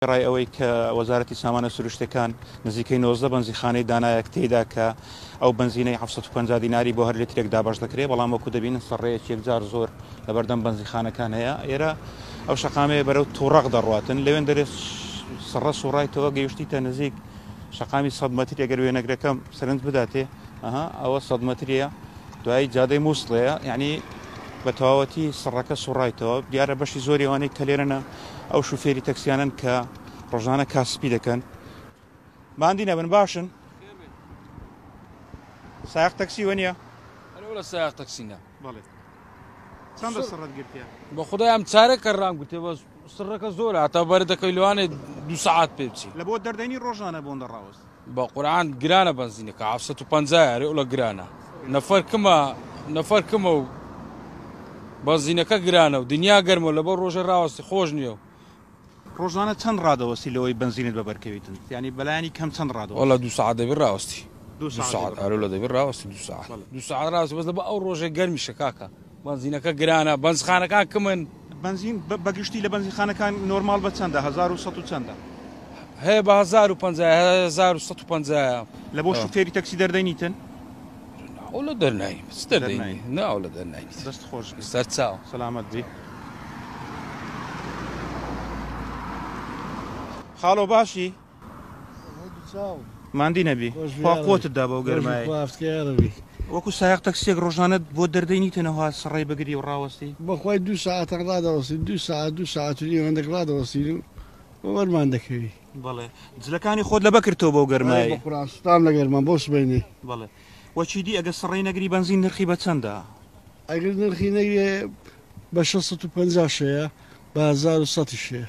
وێڕای ئەوەی کە وەزارەتی سامانە سروشتیەکان نزیکەی 19 بەنزیخانەی دانایە تێیدا کە ئەو بەنزینەی 750 دیناری بۆ هەر لیترێک دابەش دەکرێت، بەڵام وەکو دەبینن سەڕێیەکی یەکجار زۆر لەبەردەم بەنزیخانەکان هەیە. ئێرە ئەو شەقامەیە بەرەو توڕەق دەڕواتن، لەوێن دەرێ سڕە سوڕایتەوە گەیشتیتە نزیک شەقامی 100 مەتری، ئەگەر وێنەگرەکەم سەرنج بداتێ ئەها ئەوە 100 مەتریە دوایی جادەی مووسڵەیە، یعنی بە تەواوەتی سڕەکە سوڕایتەوە. دیارە بەشی زۆری ئەوانەی کە لێرەنە ئەو شوفێری تەکسیانن کە ڕۆژانە کاسپی دەکەن. ماندی نەبن باشن؟ سایەق تەکسی وە نییە؟ ئەرێ سایەق تەکسی نا. بەڵێ. چەندە سڕت گرتیە؟ بە خدای ئەم چارە کە ڕام گرتێ، بەس سڕەکە زۆرە، هەتا بەر دەکەی لەوانێ 2 سەعات پێ بچی. لە بۆ دەردەینی ڕۆژانە بۆندە ڕاوەست؟ بە قورعان گرانە بەنزینەکە 750 ئەرێ ئەوڵە گرانە. نەفەر کمە، نەفەر کمە و بەنزینەکە گرانە و دنیا گەرمە، لەبەر ڕۆژە ڕاوەستی خۆش نییە. ڕۆژانە چەند ڕادەوەستی لەوەی بەنزینت بەبەرکەویتن؟ یعنی بەلایەنی کەم چەند ڕادەوەستی؟ وەڵا 2 سەعات دەبی ڕاوەستی. 2 سەعات ئەرێ لە دەبی ڕاوەستی 2 سەعات. 2 سەعات ڕاوەستی، بەس لەبەر ئەو ڕۆژە گەرمیشە کاکە. بەنزینەکە گرانە، بەنزخانەکان کمن. بەنزین بەگشتی لە بەنزینخانەکان نۆرمال بە چەندە؟ 1100 و چەندە؟ هەیە بە 1050، 1150. لە بۆ شوفێری تەکسی دەردەینیتن؟ ئەو لە دەرناین، چ دەردەینی؟ نا ئەو لە دەرناینیت. دەست خۆش بێ. سەر چاو. سەلامەت بی. خاڵۆ باشی؟ ماندی نەبی. خوا قوتت دا بەو گەرمایی. وەکو سایەق تەکسیەک ڕۆژانە بۆ دەردەینیتنەوە سڕەی بگری و ڕاوەستی؟ بەخوای 2 سەعاتە ڕادەوەستین، 2 سەعات، 2 سەعات و نیو هەندێک ڕادەوەستین و وەرمان دەکەوی. بەڵێ. جلەکانی خۆت لەبە کردەوە بەو گەرمایی؟ بە قورئان سوتام لە گەرمان بۆ سبەینێ. بەڵێ. وەچی دی ئەگەر سڕەی نەگری بەنزین نرخی بە چەندە؟ ئەگەر نرخی نەگرێ بە 650 شەیە، بە 1100 شەیە.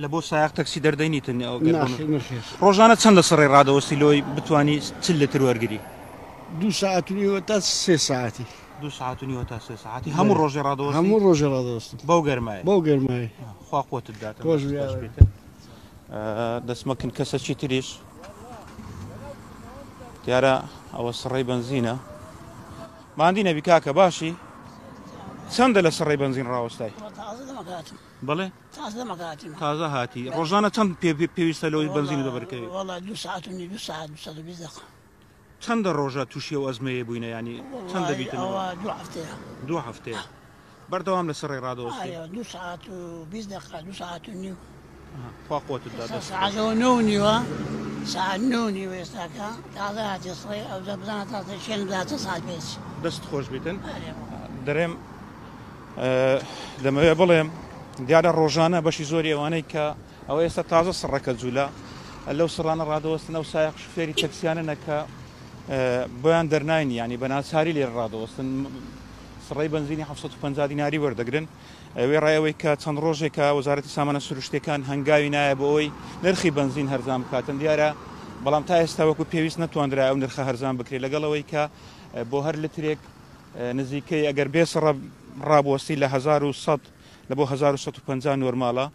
لە بۆ سایەق تەکسی دەردەینیتن ئەو گەر ناخێر، نەخێر. ڕۆژانە چەند لە سڕەی ڕادەوەستی لۆی بتوانی چل لتر وەرگری؟ 2 سەعات و نیوە تا 3 سەعاتی. 2 سەعات و نیوە تا 3 سەعاتی. هەموو ڕۆژێ ڕادەوەستی؟ هەموو ڕۆژێ ڕادەوەستم. بەو گەرمایی؟ بەو گەرمایی. خوا قوتت داتن. خۆش دەست بێ. خۆش بیتن. دەستمەکن کەسەکی تریش دیارە ئەوە سڕەی بەنزینە. ماندی نەبی کاکە باشی؟ چەندە لە سڕەی بەنزین ڕاوەستای؟ بەڵێ؟ تازە هاتی. ڕۆژانە چەند پێویستە لەوەی بەنزین بەبەرکەوی؟ وەڵا 2 سەعات و نیو، 2 سەعات، 220 دقیقە. چەندە ڕۆژە تووشی ئەو ئەزمەیە بووینە؟ ینی چەند دەبیتنەوە؟ ئەوە 2 هەفتەیە. 2 هەفتەیە. بەردەوام لە سڕەی ڕادەوەستی؟ ئارێ، 2 سەعات و 20 دقیقە، 2 سەعات و نیو. خوا قوتت دا. دەست سەعات نۆ و نیوە، سەعات نۆ و نیوە ئێستاکە تازە هاتی سڕەی، ئەو جا بزانە تازە شوێن بدات چەند سەعات پێش. دەست خۆش بیتن. ئارێ. دەرێم، دەمەوێت بڵێم دیارە ڕۆژانە بەشی زۆری ئەوانەی کە ئەوە ئێستا تازە سڕەکە جوولە لەو سڕانە ڕادەوەستن، ئەو سایەق شوفێری تەکسیانە نەکە بۆیان دەرناین، ینی بە ناچاری لێرە ڕادەوەستن. سڕەی بەنزینی 750 دیناری وەردەگرن. وێڕای ئەوەی کە چەند ڕۆژێکە وەزارەتی سامانە سروشتیەکان هەنگاوی نایە بۆ ئەوەی نرخی بەنزین هەرزان بکاتن، دیارە بەڵام تا ئێستا وەکو پێویست نەتواندرا ئەو نرخە هەرزان بکرێت، لەگەڵ ئەوەی کە بۆ هەر لترێک نزیکەی ئەگەر بێ سڕە ڕابوەستی لە 1100 لە بۆ 1150 نۆرمالە،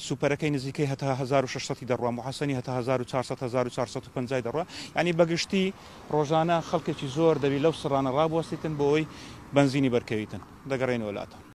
سوپەرەکەی نزیکەی هەتا 1600 دەڕوا، محەسەنی هەتا 1400، 1450 دەڕوا. یعنی بەگشتی ڕۆژانە خەڵکێکی زۆر دەبی لەو سڕانە ڕابوەستیتن بۆ ئەوەی بەنزینی بەرکەویتن. دەگەڕێنەوە لاتان.